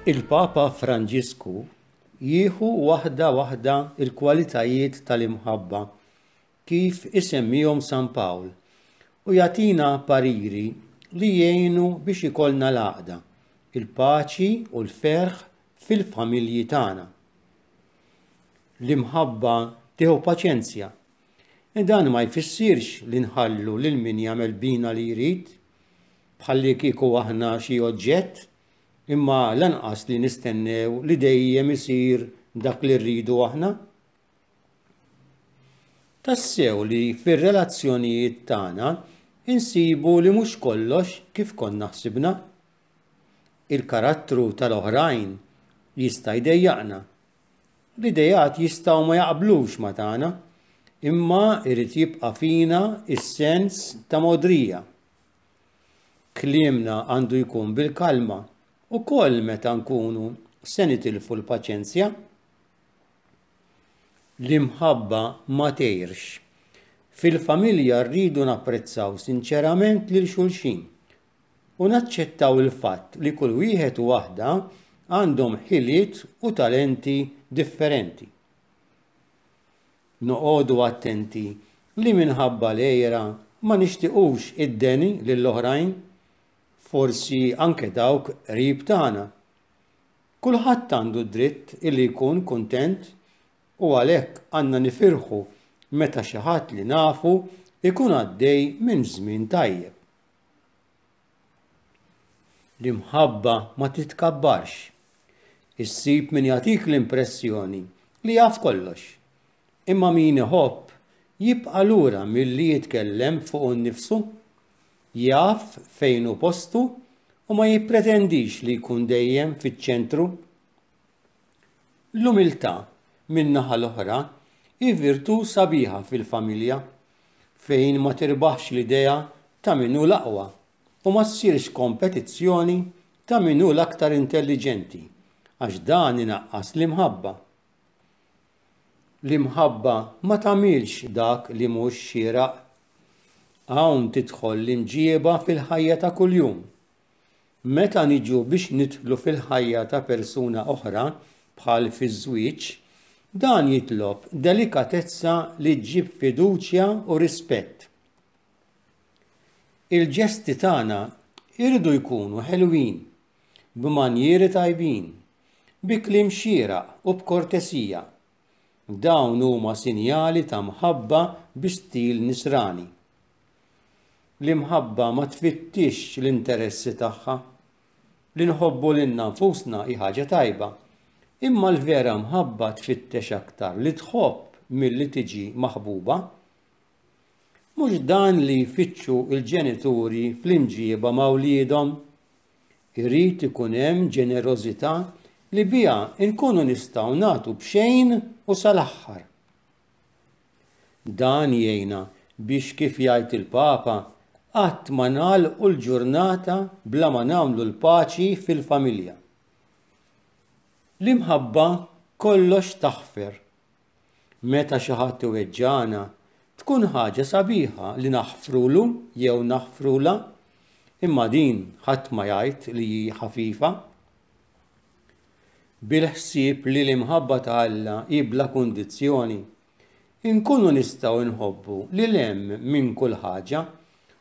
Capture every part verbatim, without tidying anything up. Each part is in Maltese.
Il-Papa Franġisku jieħu waħda waħda il-kwalitajiet tal-imħabba kif isemmihom San Pawl u jagħtina pariri li jgħinu biex ikollna l-għaqda, il-paċi u l-ferħ fil-familji tagħna. L-imħabba tieħu paċenzja. Dan ma jfissirx li nħallu lil min jagħmel bina li jrid, bħalli kieku aħna xi oġġett, imma lanqas li nistennew li dejjem isir dak li rridu aħna. Tassew li fir-relazzjonijiet tagħna insibu li mhux kollox kif konna ħsibna. Il-karattru tal-oħrajn jista' jdejjaqna. L-idejat jistgħu ma jaqblux ma tagħna, imma irid jibqa' fina is-sens ta' modrija. Kliemna għandu jkun bil-kalma ukoll meta nkunu se nitilfu l-paċenzja. L-imħabba ma tgħirx. Fil-familja rridu napprezzaw sinċerament lil xulxin u naċċettaw il-fatt li kull wieħed u waħda għandhom ħiliet u talenti differenti. Noqogħdu attenti li minħabba l-għira ma nixtiequx id-deni lill-oħrajn, forsi anke dawk qrib tagħna. Kulħadd għandu dritt illi jkun kuntent u għalhekk għandna nifirħu meta xi ħadd li nafu ikun għaddej minn żmien tajjeb. L-imħabba ma titkabbarx. Issib min jagħtik l-impressjoni li jaf kollox. Imma min iħobb jibqa' lura milli jitkellem fuq innifsu, jaf fejn hu postu u ma jippretendix li jkun dejjem fiċ-ċentru. L-umiltà min-naħa l-oħra hi virtù sabiħa fil-familja fejn ma tirbaħx l-idea ta' min hu l-aqwa u ma ssirx kompetizzjoni ta' min hu l-aktar intelliġenti, għax dan inaqqas l-imħabba. L-imħabba ma tagħmilx dak li mhux xieraq. Hawn tidħol l-imġieba fil-ħajja ta' kuljum. Meta niġu biex nidħlu fil-ħajja ta' persuna oħra bħal fiż-żwieġ, dan jitlob delikatezza li ġġib fiduċja u rispett. Il-ġesti tagħna jridu jkunu ħelwin, b'manjieri tajbin, bi kliem xieraq u b'kortesija. Dawn huma sinjali ta' mħabba bi stil nisrani. L-imħabba ma tfittix l-interessi tagħha. Li nħobbu lilna nfusna hi ħaġa tajba, imma l-vera mħabba tfittex aktar li tħobb milli tiġi maħbuba. Mhux dan li jfittxu l-ġenituri fl-imġieba ma' wliedhom. Irid ikun hemm ġenerożità li biha nkunu nistgħu nagħtu b'xejn u sal-aħħar. Dan jgħinna biex kif jgħid il-Papa, qatt ma nagħlqu l-ġurnata bla ma nagħmlu l-paċi fil-familja. L-imħabba kollox taħfer. Meta xi ħadd iweġġana, tkun ħaġa sabiħa li naħfrulu jew naħfrula, imma din ħadd ma jgħid li hi ħafifa. Bil-ħsieb li l-imħabba ta' Alla hi bla kundizzjoni, inkunu nistgħu nħobbu lil hemm minn kull ħaġa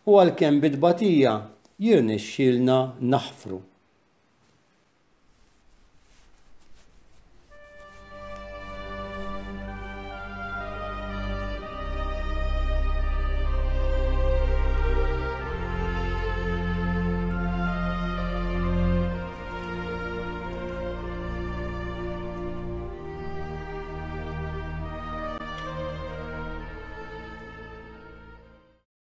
u għalkemm bi tbatija jirnexxielna naħfru.